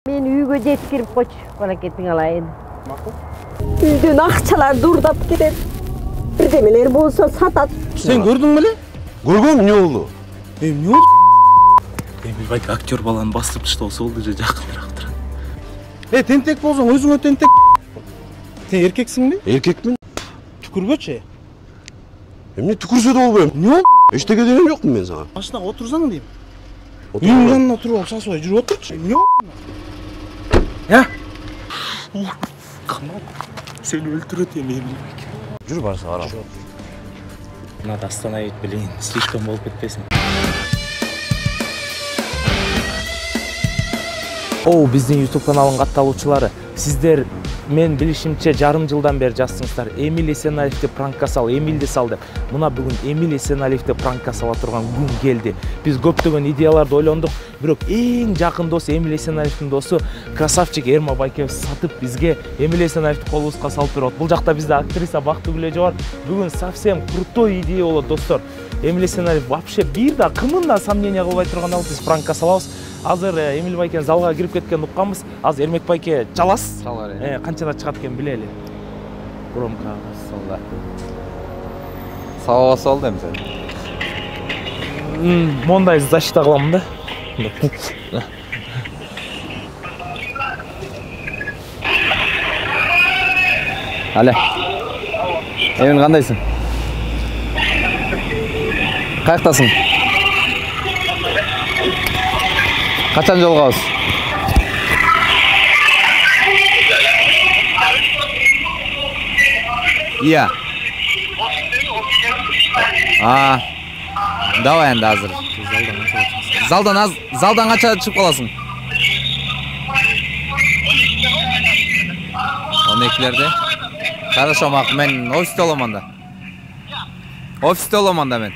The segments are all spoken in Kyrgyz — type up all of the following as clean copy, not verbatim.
Мен үйгө жеткирип койчу, балакетиң алайын. Макул. Үйдөн акчалар дурдап кетет. Бирдемелер болсо сатат. Сен көрдүң беле? Көргөм, эмне болду? Эмне болду? Эмилбек актер баланы басып таштабаса болду же жакыныраак турат. Тентек болсоң өзүңө тентек. Сен эркексиңби? Эркекмин. Түкүрбөчү. Эмне түкүрсө да болбойм. Эмне болду? Эчтеке дегем жокмун мен сага. Машинага отурсаң дейм. Үйүң жанына туруп алып сасыбай жүрүп отурчу. Эмне болду? Я? Канал. Сени өлтүрөт эми Эмилбек. Жүр барса карам. Надо остановить, блин, слишком болуп кетпесин. Биздин YouTube каналынын катталуучулары, сиздер мен билишимче жарым жылдан бери жазсыңыздар. Эмиль Эсеналиевди пранкка сал, Эмилди сал деп. Мына бүгүн Эмиль Эсеналиевди пранкка сала турган күн келди. Биз көптөгөн идеяларды ойлондук, бирок эң жакын досу Эмиль Эсеналиевдин досу красавчик Эрма Байкебов сатып бизге Эмиль Эсеналиевди колубузга салып берет. Бул жакта бизде актриса Бактыгүл бар. Бүгүн совсем крутой идея болот, достор. Эмиль Эсеналиев вообще бир да кымын да сомнение кылбай турган алып биз пранкка салабыз. Азыр Эмиль Байкен залга кирип кеткен укканбыз. Азыр Эрмек Байке чаласыз? Чалар. Канчада чыгат экен билели. Громко Сонда. Саба басып алды эми сен. Мондай защита кыламын да. Але. Эмин кандайсың? Каяктасың? Качан жолугабыз? Iya. Давай енді азыр. Залдан қанша шығып қаласың? 12-лерде. Хорошо, мақұл, мен офисте оламын да. Мен.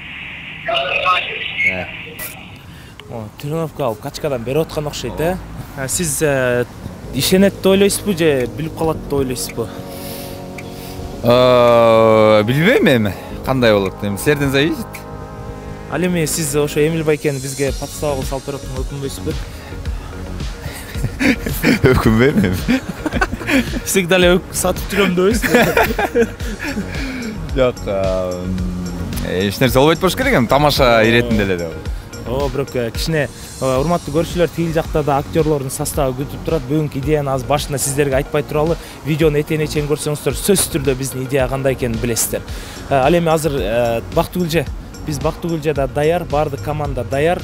Тренировка алып качкадан берип аткан окшойт, Сиз ишенет деп ойлойсузбу же билип калат деп ойлойсузбу? Билбейм эми кандай болот. Эми силерден зависит. Ал эми сиз ошо Эмиль Байкени бизге подстава кылып салып берип атканга өкүнбөйсүзбү? Өкүнбөйм эми. Всегда эле сатып жүрөм дебейсизби? Жок, эч нерсе болбойт болуш керек, эми тамаша иретинде эле деп. Бирок кичине урматтуу көрүүчүлөр, тигил жакта да актерлордун составы күтүп турат. Бүгүнкү идеяны аз башында сиздерге айтпай туралы, видеону этене чейин көрсөңүздөр сөзсүз түрдө биздин идея кандай экенин билесиздер. Ал эми азыр биз Бактыгүлже да даяр, баардык команда даяр.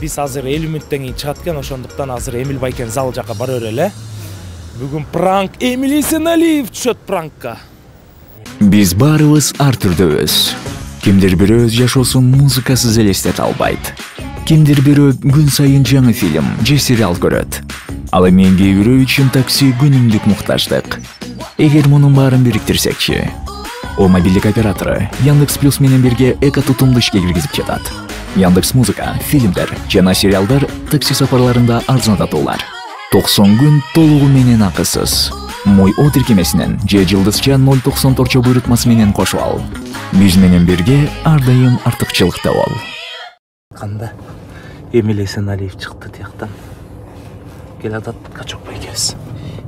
Биз азыр 50 мүнөттөн кийин чыгат экен, ошондуктан азыр Эмиль Байкен зал жака бара берели. Бүгүн пранк, Эмиль Эсеналиев түшөт пранкка. Биз баарыбыз ар түрдөбүз. Кимдир бирөө өз жашоосун музыкасыз элестете албайт. Кимдир бирөө күн сайын жаңы фильм же сериал көрөт. Ал эми кээ бирөө үчүн такси күнүмдүк муктаждык. Эгер мунун баарын бириктирсекчи, о мобилдик оператору Яндекс Плюс менен бирге эко тутумду ишке киргизип жатат. Яндекс Музыка, фильмдер жана сериалдар такси сапарларында арзандатуулар. 90 күн толугу менен акысыз. Мой о тиркемесинен же жылдызча 0.94 буйрутмасы менен кошуп ал. Биз менен бирге ар дайым артыкчылыкта бол. Канда Эмиль Эсеналиев чыкты тияктан. Келатат качок байкебиз.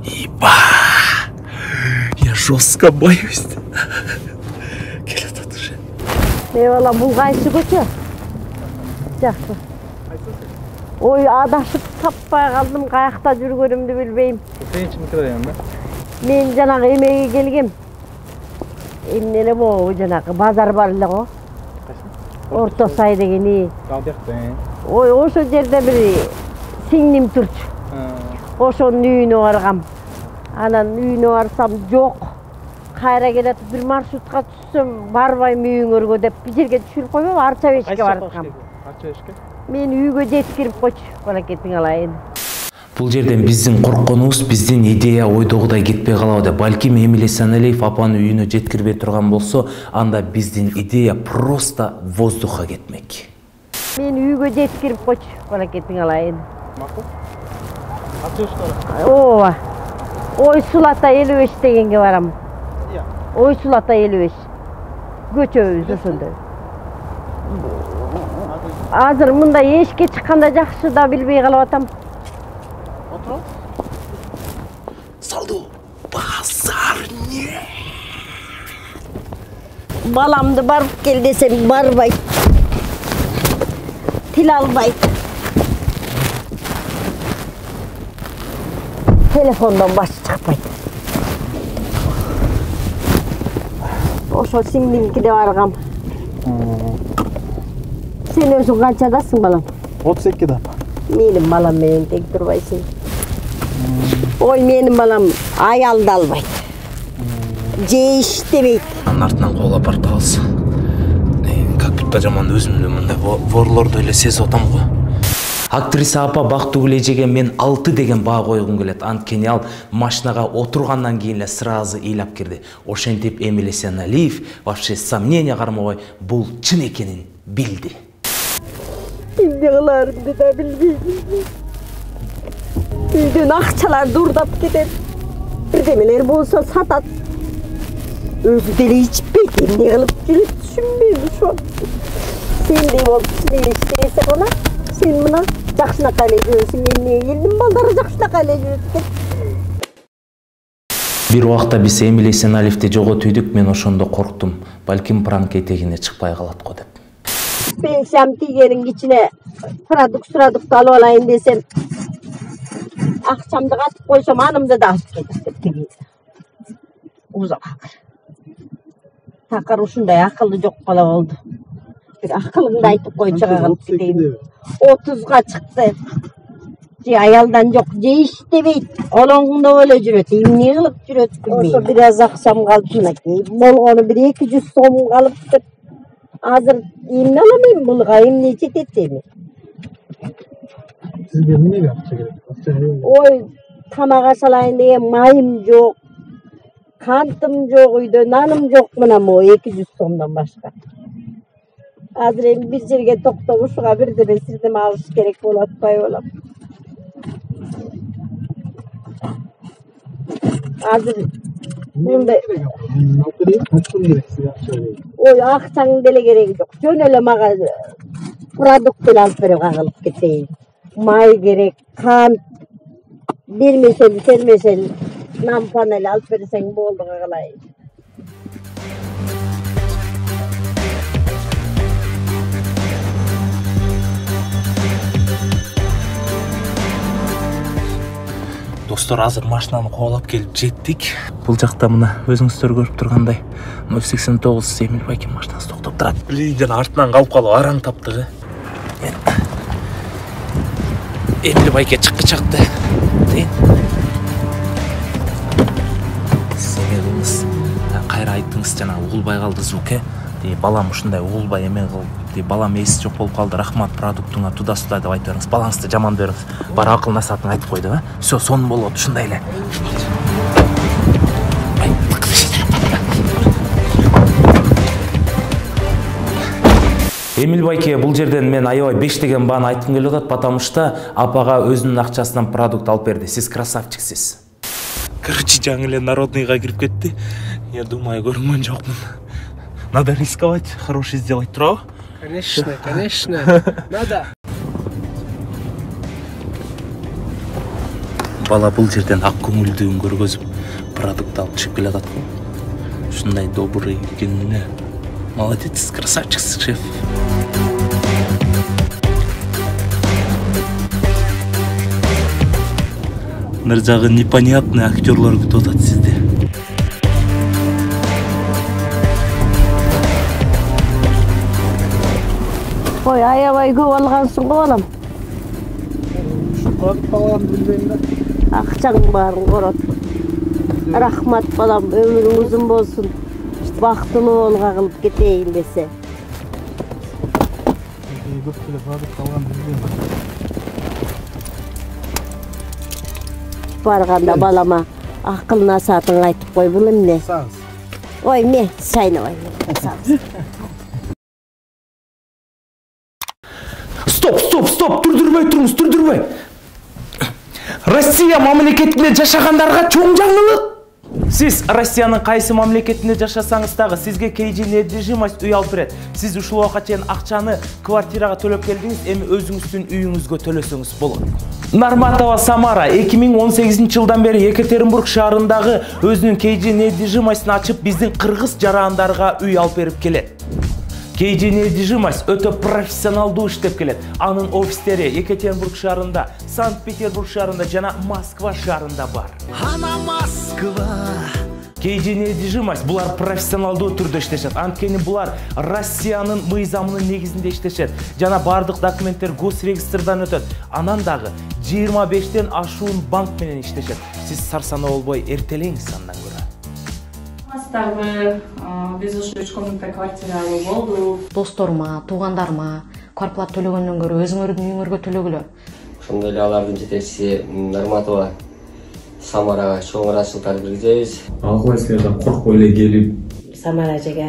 Иба! Я жестко боюсь. Келатат уже. Бала, бул кайсы көчө? Жакшы. Ой, адашып таппай калдым, каякта жүргөнүмдү билбейм. Сенчи микрорайонда? Мен жанагы эмеге келгем. Эмне эле могу жанагы базар бар эле го. Орто сай дегени. Ал жакта. Ой, ошо жерде бир сиңним турчу. Ошонун үйүнө баргам. Анан үйүнө барсам жок. Кайра келет бир маршрутка түшсөм, барбайм үйүңөргө деп бир жерге түшүрүп койбойбу, Арча бешке бараткам. Арча бешке? Мен үйгө жеткирип койчу, балакетиң алайын. Бул жерден биздин коркконубуз, биздин идея ойдогудай кетпей калабы деп. Балким Эмиль Эсеналиев апаны үйүнө жеткирбей турган болсо, анда биздин идея просто воздухка кетмек. Мен үйгө жеткирип койчу, балакетиң алайын. Макул. Арча бешке барасың? Ооба. Ой Сулата 55 дегенге барам. Ой Сулата 55. Көчөбүз ошондо. Азыр мында эшикке чыкканда жакшы да билбей калып атам. салды. Базар не? Balamdı barıp gel desem barbayt. Til albayt. Telefondan baş çıkmayt. Oşo singlimki de bargam. Sen özün kançadasın balam? 32 da. Menim balam menen tek durbaysın. Oy menim balam ayaldı albayt. Je iştebeyt. Артынан кол апарып алса. Как будто жаман өзүмдү мындай ворлорду эле сезип атам го. Актриса апа Бактыгүл эжеге мен 6 деген баа койгум келет. Анткени ал машинага отургандан кийин эле сразу ыйлап кирди. Ошентип Эмиль Эсеналиев вообще сомнение кармабай бул чын экенин билди. Эмне кыларымды да билбейм. Үйдөн акчалар дурдап кетет. Бирдемелер болсо сатат. Özü deli içpeyt, emne kılıp жүрөт түшүнбөйм ошо. Сендей болуп силер иштесек она, сен мына жакшынакай эле жүрөсүң, эмне элдин балдары жакшынакай эле жүрөт экен. Бир убакта биз Эмиль Эсеналиевди жоготуйдук, мен ошондо корктум. Балким пранк этегине чыкпай калат го деп. Пенсиям тийгенин ичине продукту алып алайын десем, акчамды катып койсом, анымды да алып кетип кетти. Узак. Такыр ушундай акылы жок бала болду. Бир акылыңды айтып койчу калып кетейин. 30га чыкты. Же аялдан жок, же иштебейт. Олоңдо эле жүрөт. Эмне кылып жүрөт билбейм. Ошо бир аз акчам калды мынакей. Болгону бир 200 сом калыптыр. Азыр эмне аламын булга, эмне жетет эми? Сизге эмнеге акча керек? Ой, тамак ашалайын деген майым жок. Kantım yok uydu, nanım yok mına mı 200 somdan başka. Azır bir жерге toktop uşuğa bir de ben sirdeme alış gerek olatpay olam. Azır bunday... Oy akçanın dele gereği yok. Jön öyle mağa produkt alıp verip ağılıp keteyim. May gerek, kant, sermesel. Nam panel alıp verirsen boldu kağılay. Достор, азыр машинаны коолап келип жеттик. Бул жакта мына өзүңүздөр көрүп тургандай 089 Эмиль Байкин машинасы токтоп турат. Билин жана артынан калып калып араң таптыгы. Эмиль Байке чыккы чакты. Кайра айттыңыз жана угулбай калды звук, балам ушундай угулбай эме кылып, балам эси жок болуп калды, рахмат продуктуңа туда-суда деп айтып бериңиз. Балаңызды жаман бериңиз. Бар акыл насаатын айтып койду, а? Всё, сонун болот, ушундай эле. Эмиль Байке, бул жерден мен аябай 5 деген бааны айткым келип атат, потому что апага өзүнүн акчасынан продукт алып берди. Сиз красавчиксиз. Короче, жаңы эле народныйга кирип кетти. Я думаю, көргөн жокмун. Надо рисковать, хороший сделать, турабы? Конечно, надо. Бала бул жерден ак көңүлдүгүн көргөзүп, продукт алып чыгып келе атат го. Ушундай добрый экенине. Молодец, красавчиксиз, шеф. Нар жагы непонятный актерлор күтүп атат сизди. Ой, аябай көп алгансың го балам. Шукат балам билбейм да. Акчаң барын корот. Рахмат балам, өмүрүң узун болсун. Бактылуу олга кылып кетейин десе. Көп эле продукт алган билбейм. Барганда балама акыл насаатын айтып кой, бул эмне? Ой, эмне? Шайнабай. Стоп, түрдүрбөй. Россия мамлекетинде жашагандарга чоң жаңылык. Сиз Россиянын кайсы мамлекетинде жашасаңыз дагы сизге KG недвижимость үй алып берет. Сиз ушул убакка чейин акчаны квартирага төлөп келдиңиз, эми өзүңүздүн үйүңүзгө төлөсөңүз болот. Нарматова Самара 2018 жылдан бери Екатеринбург шаарындагы өзүнүн KG недвижимостьун ачып, биздин кыргыз жарандарга үй алып берип келет. KG недвижимость өтө профессионалдуу иштеп келет. Анын офистери Екатеринбург шаарында, Санкт-Петербург шаарында жана Москва шаарында бар. Ана Москва. KG недвижимость булар профессионалдуу түрдө иштешет. Анткени булар Россиянын мыйзамынын негизинде иштешет. Жана бардык документтер госрегистрдан өтөт. Анан дагы 25тен ашуун банк менен иштешет. Сиз сарсанаа болбой эртелеңиз андан көрө. Биз ушу 3 комната квартира алуу болду. Досторума, туугандарыма квартплата төлөгөндөн көрө өзүңөрдүн үйүңөргө төлөгүлө. Ошондой эле алардын жетекчиси Нарматова Самарага чоң ыраазычылыктарды билдиребиз. Ал кылайсыздар, коркпой эле келип Самара эжеге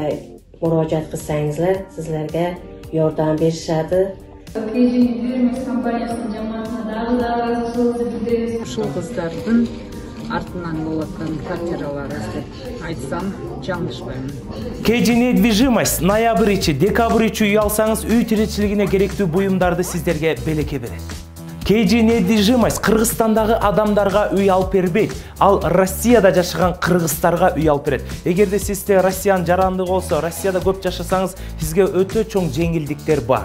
муроожаат кылсаңыздар, силерге жардам беришет. KG недвижимость компаниясынын жамаатына дагы ыраазычылыгыбызды билдиребиз. Ушул кыздардын артынан болуп аткан квартиралар деп айтсам жаңылышпаймын. KG недвижимость ноябрь ичи, декабрь ичи үй алсаңыз үй тиричилигине керектүү буюмдарды сиздерге белекке берет. KG недвижимость Кыргызстандагы адамдарга үй алып бербейт. Ал Россияда жашаган кыргыздарга үй алып берет. Эгерде сизде Россиянын жарандыгы болсо, Россияда көп жашасаңыз, сизге өтө чоң жеңилдиктер бар.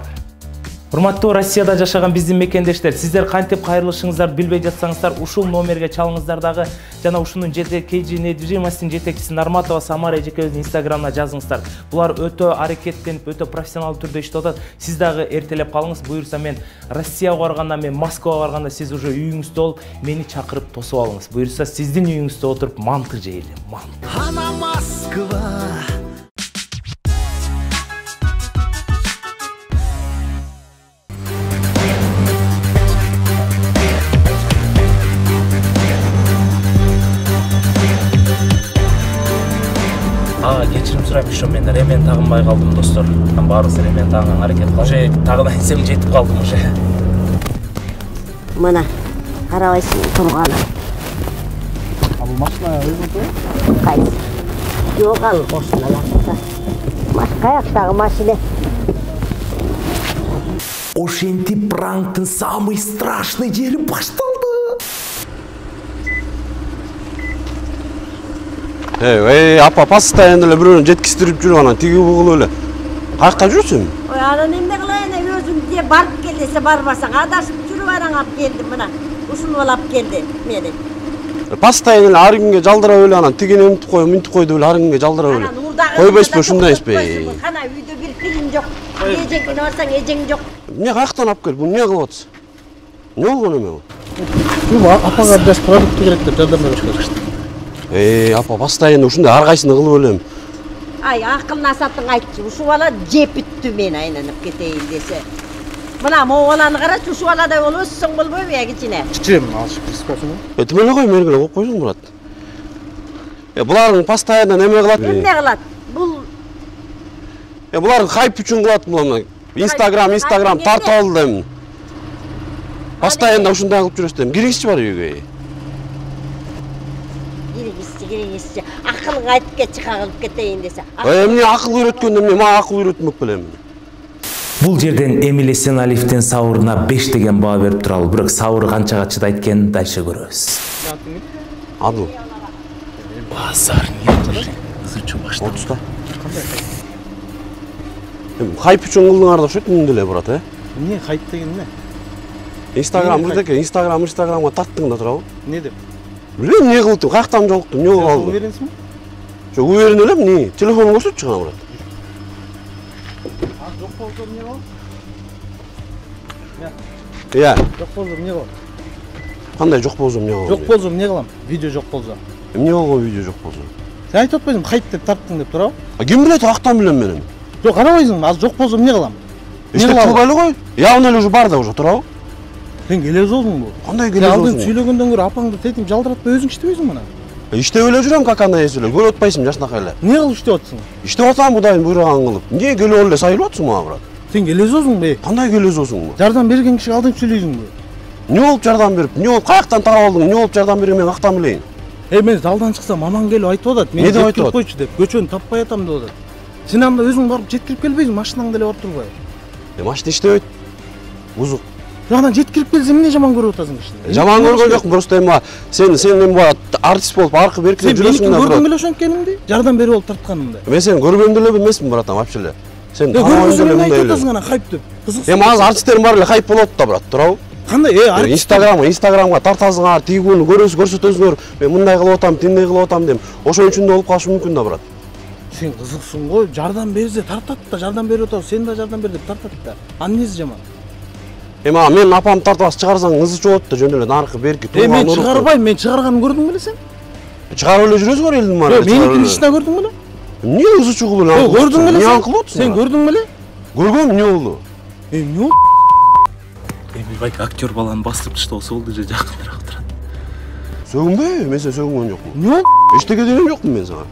Урматтуу Россияда жашаган биздин мекендештер, сиздер кантип кайрылышыңыздарды билбей жатсаңыздар, ушул номерге чалыңыздар дагы жана ушунун KG недвижимостьтин жетекчиси Нарматова Самара эжекебиздин инстаграмына жазыңыздар. Булар өтө аракеттенип, өтө профессионалдуу түрдө иштеп атат. Сиз дагы эртелеп калыңыз. Буюрса мен Россияга барганда, мен Москвага барганда сиз уже үйүңүздө болуп, мени чакырып тосуп алыңыз. Буюрса сиздин үйүңүздө отуруп манты жейли. Ана Москва. Кечирим сурайм, ошо мен ремен тагынбай калдым, достор. Баарыбыз ремен тагынга аракет кылып. Уже тагына инсем жетип калдым уже. Мына карабайсың турганы. Ал машина өзүнүкү? Кайсы? Жок, ал машиналар. Каяктагы машина? Ошентип пранктын самый страшный жери башталды. Апа, постоянно эле бирөөнү жеткиздирип жүрүп анан тиги бугул эле. Кайакта жүрсүң? Ой, анан эмне кылайын, өзүң же барып кел десе барбасаң, адашып жүрүп анан алып келдим мына. Ушуну алып келди мени. Постоянно эле ар күнгө жалдырап эле анан тигини мынтип кой, мынтип кой деп эле ар күнгө жалдырап эле. Койбойсузбу, ушундай эмеспи? Кана үйдө бир тыйын жок. Эжеңине барсаң эжең жок. Эмне каяктан алып келип, эмне кылып атасың? Эмне болгон эме бул? Апага беш продукт керек деп жардам бериш керек. Апа, постоянно ушундай ар кайсыны кылып элем. Ай, акылына сатың айтчы. Ушул бала жепиттү мени айланып кетейин десе. Мына могу баланы карачы, ушул баладай болуп өссөң болбойбу я кичине? Кичим, алышып киришпесиңби? Тим эле кой, мергиле коюп койсуң Мурат. Булардын постоянно неме кылат? Эмне кылат? Бул булар хайп үчүн кылат мына. Инстаграм тартып алды дем. Постоянно ушундай кылып жүрөсүң. Киргизчи бар үйгө. Киргизчи. Акылың айтып кетчи, кагылып кетейин десе. Эмне акыл үйрөткөндө эмне, мага акыл үйрөтмөк белем. Бул жерден Эмиль Эсеналиевдин сабырына 5 деген баа берип туралы, бирок сабыры канчага чыдайт экенин дальше көрөбүз. Адыл. Базар нет. Изучу баштап. Отуста. Хайп үчүн кылдыңар да окшойт мындай эле брат, Эмне хайп деген эмне? Инстаграмга тарттың да турабы? Эмне деп? Билбейм, эмне кылдым, каяктан жолуктум, эмне болуп алды? Уверенсиңби? Жок, уверен элем, эмне? Телефонуңду көрсөтчү кана брат. Жок болсо эмне болот? Жок болсо эмне болот? Кандай жок болсо эмне болот? Жок болсо эмне кылам? Видео жок болсо. Эмне болгон видео жок болсо? Сен айтып атпайсыңбы, хайп деп тарттың деп турабы? Ким билет, каяктан билем мен эми? Жок, карабайсыңбы, азыр жок болсо эмне кылам? Иштеп кылбай эле кой. Явно эле уже бар да уже турабы? Сен келезосуңбу? Кандай келезосуң? Алдын сүйлөгөндөн көрө апаңды тетип жалдыратпай өзүң иштебейсиңби мына? Иштеп эле жүрөм, как андай эсиле. Көрүп атпайсыңбы жашнакай эле? Эмне кылып иштеп атсың? Иштеп атам Кудайдын буйруган кылып. Эмне келип эле сайылып атсың мага брат? Сен келезосуңбу? Кандай келезосуңбу? Жардам берген кишиге алдын сүйлөйсүңбү? Эмне болуп жардам берип? Эмне болуп каяктан тарап алдың? Эмне болуп жардам берген мен каяктан билейин? Мен залдан чыксам аман келип айтып атат. Мен деп айтып койчу деп, көчөнү таппай атам деп атат. Сен анда өзүң барып жеткирип келбейсиң, машинаң деле бар турбай. Машина иштебейт. Бузук. Жагынан жеткирип келсең эмне жаман көрүп атасың кишини? Жаман көргөн жокмун, просто эми сен эми артист болуп аркы беркиде жүрөсүң да. Сен көрдүң эле ошонткенимди? Жардам берип алып тартканымды. Мен сени көргөн деле эмесмин, братан, вообще эле. Сен көргөсөң эле айтып атасың ана хайп деп. Кызыксың. Эми азыр артисттердин баары эле хайп болот да, брат, туурабы? Кандай? Инстаграмга тартасыңар, тигүүнү көрсөтөсүңөр. Мен мындай кылып атам, тиндей кылып атам дейм. Ошон үчүн да болуп калышы мүмкүн да, брат. Сен кызыксың го, жардам берсе тартат да, жардам берип атабыз, сен да жардам бер деп тартат да. Аннеси жаман. Эми мен апамды тартып алып чыгарсаң ызы чыгат да, жөн эле наркы берки тууган мен чыгарбайм, мен чыгарганын көрдүң беле сен? Чыгарып эле жүрөсүңөр элдин баары. Меникини ичине көрдүң беле? Эмне ызы чыгуу эле? Көрдүң беле? Эмне анкылып атасың? Сен көрдүң беле? Көргөм, эмне болду? Эмне болду? Эми байк актер баланы бастырып таштабаса болду же жакыныраак турат. Сөгүнбөйбү? Мен сени сөгүнгөн жокмун. Эмне болду? Эчтеке дегем жокмун мен сага.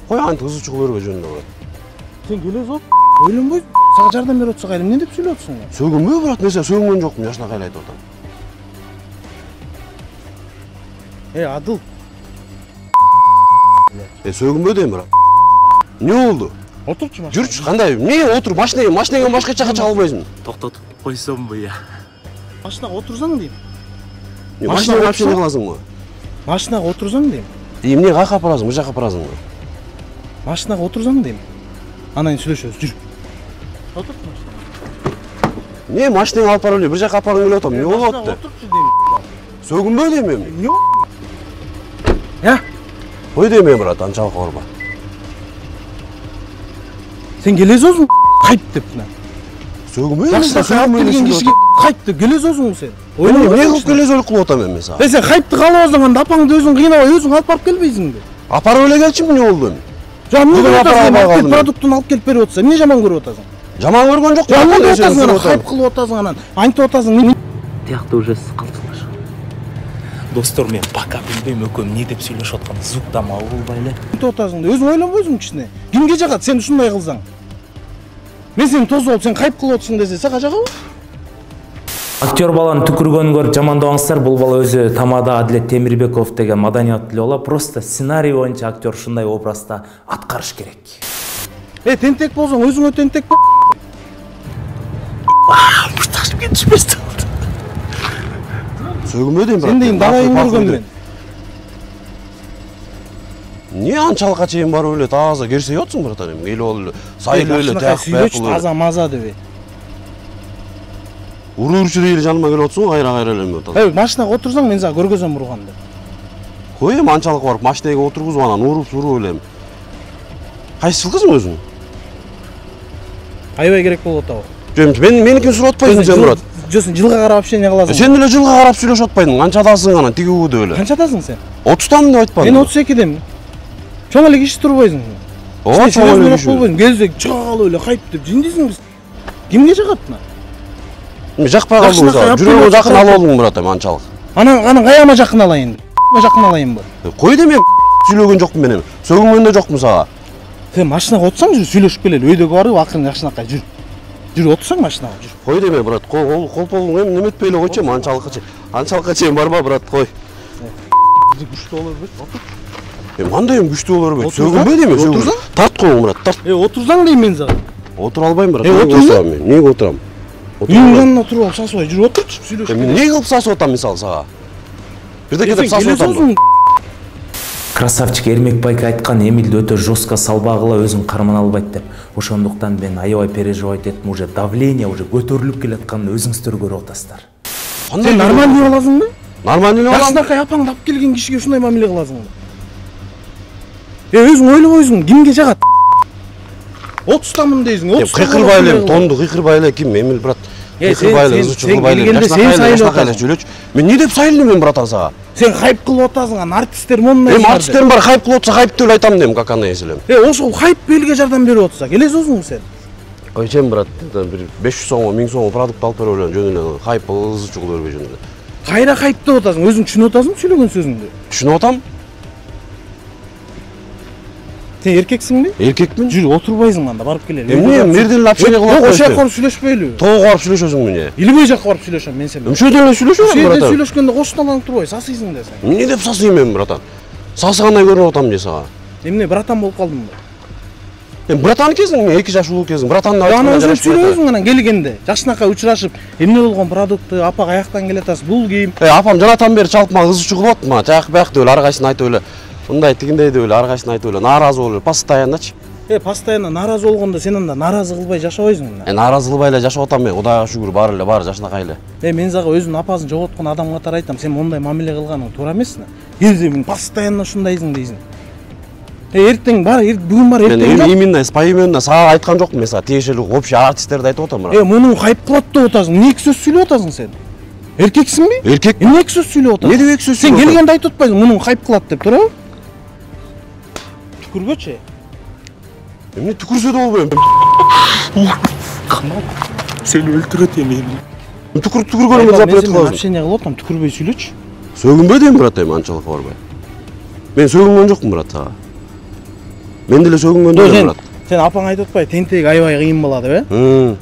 Кой антип ызы чыгып өрбө жөнүндө, брат. Сен келесиң, ойлонбой сага жардам берип атса кайра эмне деп сүйлөп атасың? Сөгүнбөйбү, брат, мен сени сөгүнгөн жокмун, жашынакай айтып атам. Адыл. Сөгүнбө дейм, брат. Эмне болду? Отурчу машина. Жүрчү, кандай? Эмне отур? Машинага башка жака чыга албайсың. Токтотуп койсомбу я? Машинага отурсаң дейм. Машинага вообще не кыласыңбы? Машинага отурсаң дейм. Эмне каяка апарасың? Бул жака апарасыңбы? Машинага отурсаң дейм. Анан сүйлөшөбүз, жүр. Отур машинага. Не, машинаңы алып барып эле, бир жака апаргың келип атам. Эмне болуп атты? Отурчу дейм. Сөгүнбө дейм эми. Эмне? Я? Кой дейм эми, брат, анчалык барба. Сен келесиң, хайп деп мына. Сөгүнбө. Келген кишиге хайп деп келесиң сен. Эмне кылып келесиң кылып атам мен сага? Сен хайпты каалабасаң анда апаңды өзүң кыйнабай өзүң алып барып келбейсиңби? Апарып эле келчи, эмне болду эми? Продуктун алып келип берип атсаң, эмне жаман көрүп атасың? Жаман көргөн жокмун. Жаман көрүп атасың, анан хайп кылып атасың, анан айтып атасың. Тиякта уже калчылаш. Достор, мен пока билбейм экөөм эмне деп сүйлөшүп атканын, звукта мабыл болбай эле. Айтып атасың да, өзүң ойлонбойсуң кичине. Кимге жагат сен ушундай кылсаң? Мен сени тосуп алып сен хайп кылып атасың десе, сага жагабы? Актер баланы түкүргөнүн көрүп жамандабаңыздар. Бул бала өзү тамада Адилет Темирбеков деген маданияттуу бала. Просто сценарий боюнча актер ушундай образда аткарыш керек. Тентек болсоң өзүңө тентек бол. Мушташып кетишпестен. Сөгүнбө дейм, брат. Сен дейин далайын көргөм мен. Не анчалыкка чейин барып эле таза керсей атсың, братан, эми келип ал эле сайылып эле сүйлөчү таза маза деп. Уруучу эле жаныма келип атсың, кайра эле атасың. Машинага отурсаң мен сага көргөзөм урганды. Кой эми анчалык барып машинага отургузуп анан уруп эле. Кайсы жылкысың өзүң? Аябай керек болуп атабы? Жок, меникин сурап атпайсың сен, брат. Жок, сен жылга карап общение кыласың. Сен деле жылга карап сүйлөшүп атпайсың. Канчадасың анан тигүү деп эле. Канчадасың сен? 30тамын деп айтпадың. Мен 32демин. Чоң эле киши турбайсың. Ооба, чоң эле киши. Келсек чыга калып эле хайп деп жиндисиң биз. Кимге жагат мына? Мен жакпай калдым сага. Жүрөгүмө жакын алып алдың, брат, анчалык. Анан каяма жакын алайын? Жакын алайынбы? Кой да мен сүйлөгөн жокмун мен эми. Сөгүнгөн да жокмун сага. Сен машинага отурсаң жүр, сүйлөшүп келели. Өйдөгө барып акырын жакшынакай жүр. Жүр, отурсаң машинага жүр. Кой деме, брат, колполуң эми неметпей эле койчу, анчалыкка чейин барба, брат, кой. Күчтүү болор бет, отур. Кандай эми күчтүү болор бет? Сөгүнбөй деме, сөгүн. Тарт коюң, брат, тарт. Отурсаң дейм мен сага. Отура албайм, брат. Отурсам мен. Эмнеге отурам? Үйүңдүн янына туруп алып сасыбай жүр, отурчу, сүйлөшүп. Эмне кылып сасып атам мисалы сага? Бирдеке деп сасып атам. Красавчик Эрмекбайк айткан, Эмилди өтө жестко салбагыла өзүн кармана албайт деп. Ошондуктан мен аябай переживать эттим, уже давление уже көтөрүлүп келатканын өзүңүздөр көрүп атасыздар. Сен нормальный боласыңбы? Нормальный болам. Жакшынакай апаңды алып келген кишиге ушундай мамиле кыласыңбы? Өзүң ойлобойсуң, кимге жагат? 30тамын дейсиң, 30. Кыйкырбай эле, тонду кыйкырбай эле ким? Эмил, брат. Кыйкырбай эле, ызы чыгырбай эле. Сен сайылып атасың. Мен эмне деп сайылдым мен, братан, сага? Сен хайп кылып атасың, анан артисттер мондай. Эми артисттерим бар, хайп кылып атса, хайп деп айтам дейм, как аны эселем. Ошол хайп элге жардам берип атса, келесиңби сен? Ой, сен, брат, бир 500 сомго, 1000 сомго продукт алып берип эле жөн эле хайп ызы чыгып өрбөй жөн эле. Кайра хайп деп атасың, өзүң түшүнүп атасың сүйлөгөн сөзүңдү? Түшүнүп атам. Сен эркексиңби? Эркекмин. Жүр, отурбайсың анда, барып келели. Эмне мерден эле общение кылып Ошол жака барып сүйлөшпөйлү. Тоого барып сүйлөшөсүң эмне? Илбей жака барып сүйлөшөм мен сен. Ошодон эле сүйлөшөм, братан. братан. Сүйлөшкөндө кошуналанып турбай, сасыйсың да сен. Эмне деп сасыйм мен, братан? Сасыгандай көрүнүп атам же сага. Эмне, братан болуп калдыңбы? Братан экенсиң, 2 жаш улуу экенсиң. Братанды Ана өзүң сүйлөбөйсүң анан келгенде. Жакшынакай учурашып, эмне болгон продукты, апа каяктан келатасыз, бул кийим. Апам жанатан бери чалып мага кызычуу кылып атты, мага жак бак деп эле ар кайсысын айтып эле. Мындай тигиндей деп эле ар кайсысын айтып эле, нааразы болуп эле постоянночу. Постоянно нааразы болгондо сен анда нааразы кылбай жашабайсың да. Нааразы кылбай эле жашап атам мен, Кудайга шүгүр, баары эле баары жакшынакай эле. Мен сага өзүнүн апасын жоготкон адам катары айтам, сен мондай мамиле кылганың туура эмес да. Келсең постоянно ушундайсың дейсиң. Эртең бар, бүгүн бар, эртең мен именно поименно сага айткан жокмун, мен сага тиешелүү общий артисттерди айтып атам, брат. Муну хайп кылат деп атасың. Эмне эки сөз сүйлөп атасың сен? Эркексиңби? Эркек. Эмне эки сөз сүйлөп атасың? Эмне деп эки сөз сүйлөп атасың? Сен келгенде айтып атпайсың, муну хайп кылат деп, туурабы? Түкүрбөчү. Эмне түкүрсө да болбойм. Сени өлтүрөт эми. Түкүргөнүмдү запрет кылабыз. Общение кылып атам, түкүрбөй сүйлөчү. Сөгүнбөй дейм, брат, эми анчалык барбай. Мен сөгүнгөн жокмун, брат, сага. Мен деле сөгүнгөн жокмун, брат. Сен апаң айтып атпайбы, тентек аябай кыйын болот, э?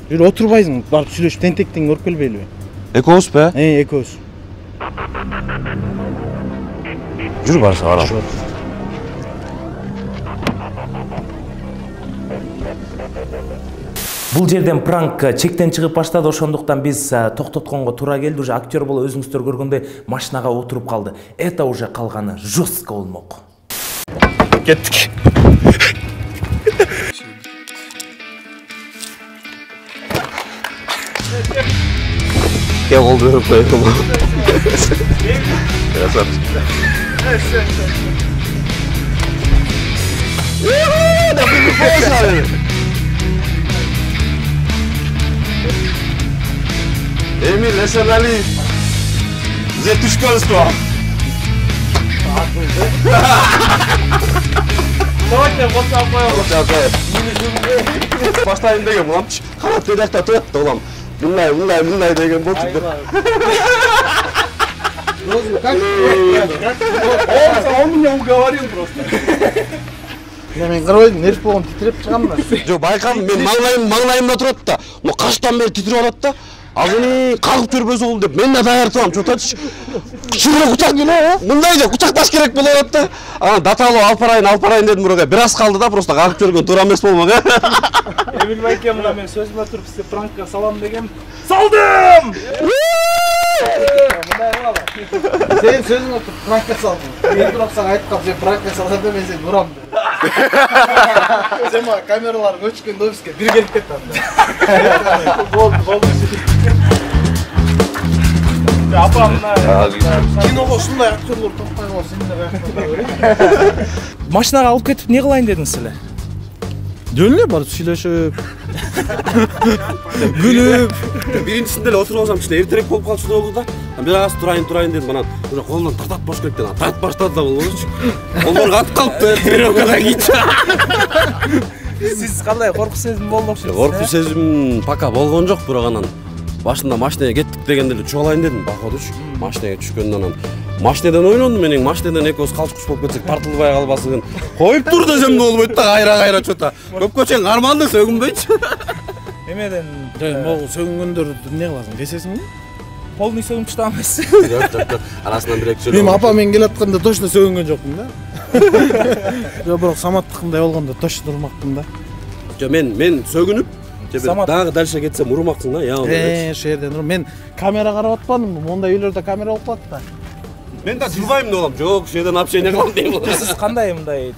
Жүр, отурбайсың, барып сүйлөшүп тентектиң көрүп келбейлиби? Экөөбүзбү? Экөөбүз. Жүр, барса барам. Бул жерден пранк чектен чыгып баштады, ошондуктан биз токтотконго туура келди. Уже актер боло өзүңүздөр көргөндөй машинага отуруп калды. Это уже калганы жестко болмок. Кеттик. Кел колду берип коём. Красавчик. Да ты Эмиль, Алиев. Где түшкөнсүң? Давайте WhatsApp коём. Баштайын деген буламчы. Карап дедакта турат да улам. Мындай деген болчу. Как? Он меня уговорил просто. Мен карабайдым, нерв болгон титиреп чыгам да. Жок, байкадым, мен маңлайымда турат да. Могу каштан бери титирип атат да. Азыны кагып жүрбөсө болду деп мен да даяр турам, чотачы. Кичине кучак эле, мындай деп кучакташ керек болуп атат да. Анан даталуу алпарайын дедим бирөөгө. Бир аз калды да, просто кагып жүргөн туура эмес болмок, э. Эмил байке, мына мен сөзүмө туруп сизге пранкка салам дегем. Салдым! Сен сөзүңө туруп пранкка салдың. Мен туруп сага айтып калып, сен пранкка салсаң да мен сени урам деп. Сен мага камералар өчкөндө бизге бир келип кетти анда. Болду. Апам киного ушундай актерлор топпой калып, сен да каяктан. Машинага алып кетип не кылайын дедиңиз эле? Жөн эле барып сүйлөшүп. Күлүп. Биринчисинде эле отуруп алсам кичине эртерээк болуп калчу болду да. Бир аз турайын дедим, анан уже колунан тартат бош керек деп тартып баштады да болбодучу. Колдор катып калыптыр, тренировкада кийчи. Сиз кандай коркуч сезим болду окшойт? Коркуч сезим пока болгон жок, бирок анан башында машинеге кеттик дегенде эле чугалайын дедим, походучу. Машинеге түшкөндөн анан машинеден ойнондум, менин машинеден экөөбүз калчкуч болуп кетсек тартылбай калбасыгын. Коюп тур десем да болбойт да, кайра чота. Көпкө чейин карманды, сөгүнбөйчү. Эмеден могу сөгүнгөндөрдү эмне кыласың, кесесиңби? Полный сөгүнчү да эмес. Жок. Арасынан бир эки Мен апа мен келатканда точно сөгүнгөн жокмун да. Жок, бирок саматтыкындай болгондо точно урмакмын да. Жок, мен сөгүнүп, дагы дальше кетсем урмаксың да, яа. Ошол жерден мен камера карап атпадымбы? Мондай үйлөрдө камера болуп калат да. Мен да жылбайм да болом. Жок, ошол жерден общение кылам дейм. Сиз кандай мындай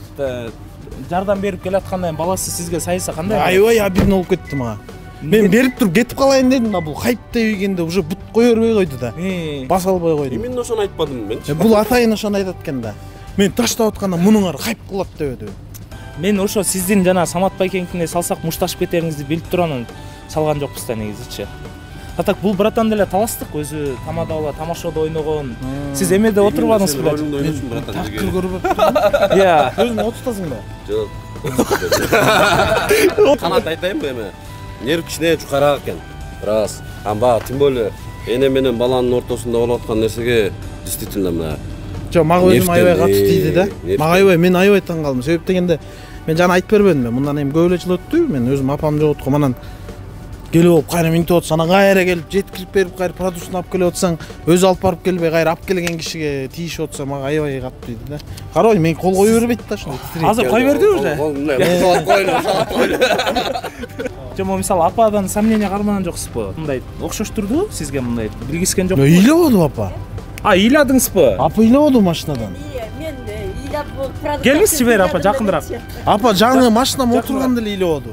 жардам берип келаткандан баласы сизге сайса кандай? Аябай обидно болуп кетти мага. Мен берип туруп кетип калайын дедим да, бул хайп дегенде уже бут кое бербей койду да. Баса албай койдум. Именно ошону айтпадым мен. Бул атайын ошону айтат экен да. Мен таштап атканда мунуңар хайп кылат деп. Мен ошо сиздин жана Самат байкеңкине салсак мушташып кетериңизди билип турганын салган жокпуз да негизичи. Так бул братан деле таластык, өзү тамадабала тамашада ойногон. Сиз эмеде отурбадыңыз беле? Тактыр көрүп атам. Иә. Өзүң отуртасың да? Жок. Канат айтайынбы эме? Нерв кичине жукараак экен. Раз. Амба, тем более эне менен баланын ортосунда болуп аткан нерсеге действительно мына. Жок, мага өзүм аябай катуу тийди да. Мага аябай, мен аябай таң калдым. Себеп дегенде Мен жана айтып бербедимби, мындан эми көп эле жыл өттү, мен өзүм апам жоготком, анан келип алып кайра минтип атсаң, анан кайра келип жеткирип берип, кайра продуктун алып келип атсаң, өзү алып барып келбей, кайра алып келген кишиге тийишип атса, мага аябай катты дейт да. Карабай, мен кол кое бербейт да ошондой. Азыр кой берди уже. Жомо мисалы ападан сомнение кармаган жоксузбу? Мындай окшош турду сизге, мындай билгискен жокпу? Ыйлабадым апа. Ыйладыңызбы? Апа ыйлабады машинадан. Мен ыйлап продукт. Келиңизчи бери апа, жакындыраак. Апа жаңы машинам отурганда эле ыйлабады.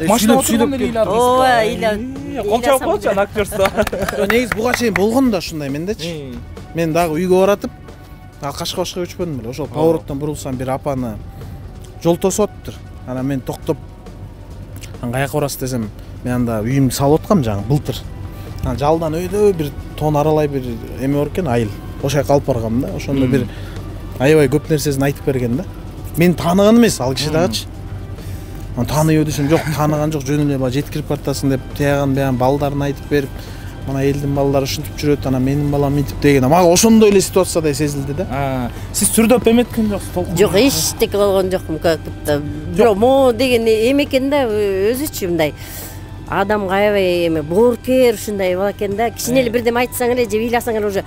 Машина отурганда эле ыйладыңыз. Ооба, ыйлап. Кол чабып коелучу актерство. Негизи буга чейин болгон да ушундай мендечи. Мен дагы үйгө баратып, Кашкабашка көчпөдүм эле. Ошол повороттон бурулсам бир апаны жол тосуп атыптыр. Анан мен токтоп, каяка барасыз десем, мен анда үйүмдү салып аткам жаңы былтыр. Анан жалдан өйдө бир тон аралай бир эме бар экен, айыл. Ошол жака алып баргам да. Ошондо бир аябай көп нерсесин айтып берген да. Мен тааныган эмес, ал киши дагычы. Аны тааныбы десем, жок, тааныган жок, жөн эле жеткирип бартасың деп, тияган баягы балдарын айтып берип, мына элдин балдары ушинтип жүрөт, анан менин балам мынтип деген. Мага ошондой эле ситуациядай сезилди да. Сиз түрдөп эметкен жоксуз, толкун? Жок, эчтеке болгон жокмун, как-то. Бирок мо деген эме экен да, өзүчү мындай. Адам аябай эме боорукер ушундай бала экен да. Кичине эле бирдеме айтсаң эле же ыйласаң эле уже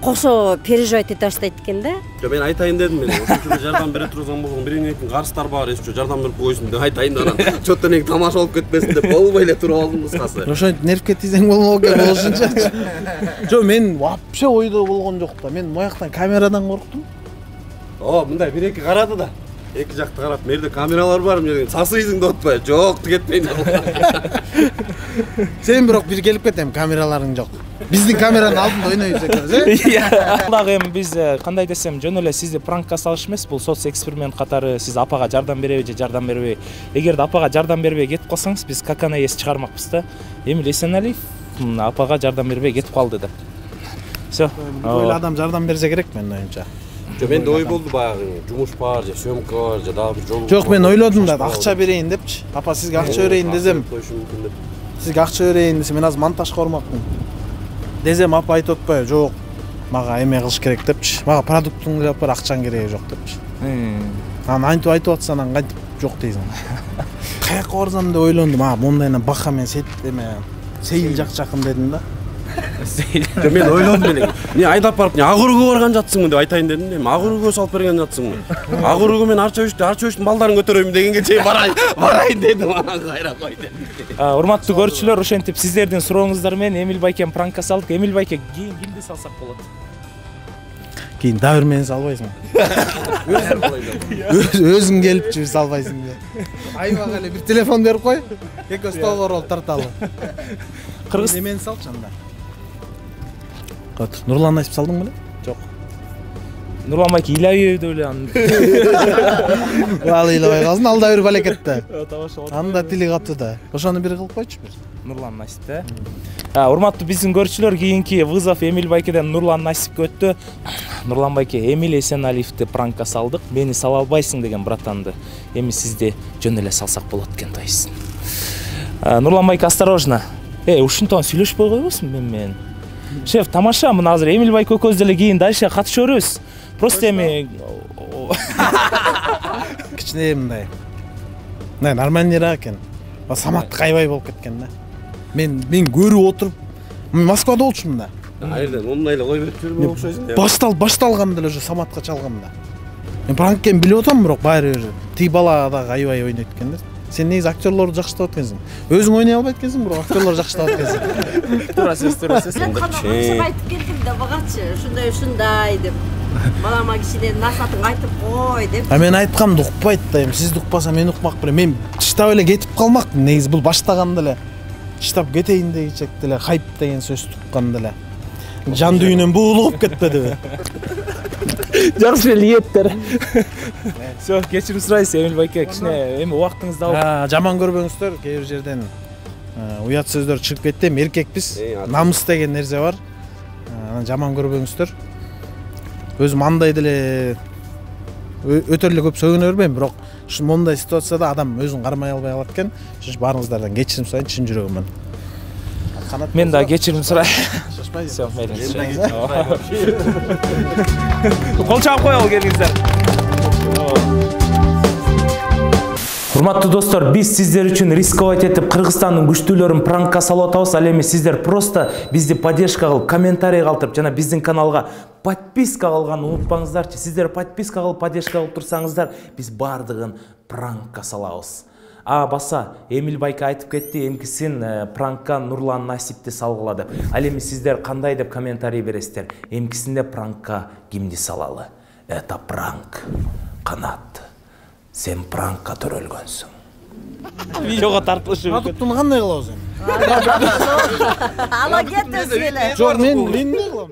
кошо переживать эте баштайт экен да. Жок, мен айтайын дедим, мен ошентип жардам бере турган болгон биринин карыстар бар, эсче жардам берип койсун деп айтайын да, анан чотто неге тамаша болуп кетпесин деп болбой эле туруп алдым кыскасы. Ошентип нервке тийсең болмок экен болушунчачы. Жок, мен вообще ойдо болгон жок да. Мен мояктан камерадан корктум. Мындай бир-эки карады да. Эки жакты карап, мерде камералар бар, мен сасыйсың деп атпай, жок, кетпейин деп. Сен бирок бир келип кетем, камераларың жок. Биздин камеранын алдында ойнойбуз экенбиз, Дагы эми биз кандай десем, жөн эле сизди пранкка салыш эмес, бул соц эксперимент катары сиз апага жардам береби же жардам бербей. Эгерде апага жардам бербей кетип калсаңыз, биз какана эс чыгармакпыз да. Эмил Эсеналиев апага жардам бербей кетип калды деп. Всё. Ойло адам жардам берсе керек менин оюмча. Жок, менде ой болду баягы, жумуш бар, же съемка бар, же дагы бир жол. Жок, мен ойлодум да, акча берейин депчи. Апа, сизге акча берейин десем. Сизге акча берейин десем, мен азыр монтажга бармакмын. Десем, апа айтып атпайбы, жок, мага эме кылыш керек депчи. Мага продуктуң эле бар, акчаң кереги жок депчи. Анан антип айтып атса, анан кантип жок дейсиң. Каяка барсам деп ойлондум, мондайынан бака мен сейил жакчакын дедим да. Мен ойлодум эле. Не айдап барып, не агырууга барган жатсыңбы деп айтайын дедим да. Агырууга салып берген жатсыңбы? Агырууга мен арча өчтүн балдарын көтөрөйм дегенге чейин барайын дедим, анан кайра кой дедим. Урматтуу көрүүчүлөр, ошентип сиздердин сурооңуздар менен Эмил байкем пранкка салдык. Эмил байке, кийин кимди салсак болот? Кийин дагы мени салбайсың. Өзүң келипчи салбайсың деп. Айбага эле бир телефон берип кой. Экөөбүз толгоролуп тарталы. Кыргыз эмени салчы анда. Катыр. Нурлан айтып салдың беле? Жок. Нурлан байке ыйлабай деп эле аны. Ал ыйлабай калсын, алда бир балекетте. Анда тили катты да. Ошону бир кылып койчу бир. Нурлан Насип да. Урматтуу биздин көрүүчүлөр, кийинки вызов Эмил байкеден Нурлан Насипке өттү. Нурлан байке, Эмил Эсеналиевди пранкка салдык. Мени сала албайсың деген братанды. Эми сизди жөн эле салсак болот экен дейсиң. Нурлан байке, осторожно. Ушинтип сүйлөшпөй койбосун мен. Шеф, тамаша, мына азыр Эмил байке экөөбүз деле кийин дальше катышып беребиз. Просто эми кичине мындай. Мына нормальныйраак экен. Самат кайбай болуп кеткен да. Мен көрүп отуруп, мен Москвада болчумун да. Айрдан ондай эле кой берип жүрбөй окшойсуң. Башталганда эле уже Саматка чалгам да. Мен пранк экенин билип атам, бирок баары бир тиги бала дагы аябай ойнойт экен да. Сен негизи актерлорду жакшылап аткансың. Өзүң ойной албайт экенсиң, бирок актерлор жакшылап аткансың. Туура сөз. Мен канча айтып келдим да багачы, ушундай деп. Балама кичине насатын айтып кой деп. Мен айткамды укпайт да, эми сизди укпаса мен укмак белем. Мен чыштап эле кетип калмакмын. Негизи бул баштаганда эле чыштап кетейин дегичекте эле хайп деген сөздү укканда эле. Жан дүйнөм буулуп кетпедиби? Жакшы ниеттер. Всё, кечирим сурайсыз Эмил байке, кичине эми убактыңызды алып. Жаман көрбөңүздөр, кээ бир жерден уят сөздөр чыгып кетти. Эркекпиз, намыс деген нерсе бар. Жаман көрбөңүздөр. Өзүм андай деле өтө эле көп сөгүнө бербейм, бирок ушу мондай ситуацияда адам өзүн кармай албай калат экен. Ошо баарыңыздардан кечирим сурайын, чын жүрөгүмөн. Мен да кечирим сурайын. Всё, мейлиңиз. Кол чабып коелу келиңиздер. Урматтуу достор, биз сиздер үчүн рисковать этип Кыргызстандын күчтүүлөрүн пранкка салып атабыз. Ал эми сиздер просто бизди поддержка кылып, комментарий калтырып, жана биздин каналга подписка кылганды унутпаңыздарчы. Сиздер подписка кылып, поддержка кылып турсаңыздар, биз бардыгын пранкка салабыз. Баса, Эмиль Байка айтып кетти, эмкисин пранкка Нурлан Насипти салгыла деп. Ал эми сиздер кандай деп комментарий бересиздер? Эмкисинде пранкка кимди салалы? Это пранк. Канат. Сен пранкка төрөлгөнсүң. Видеого тартылышы мүмкүн. Продуктуну кандай кылабыз эми? Ала кет өзү эле. Жок, мен эмне кылам?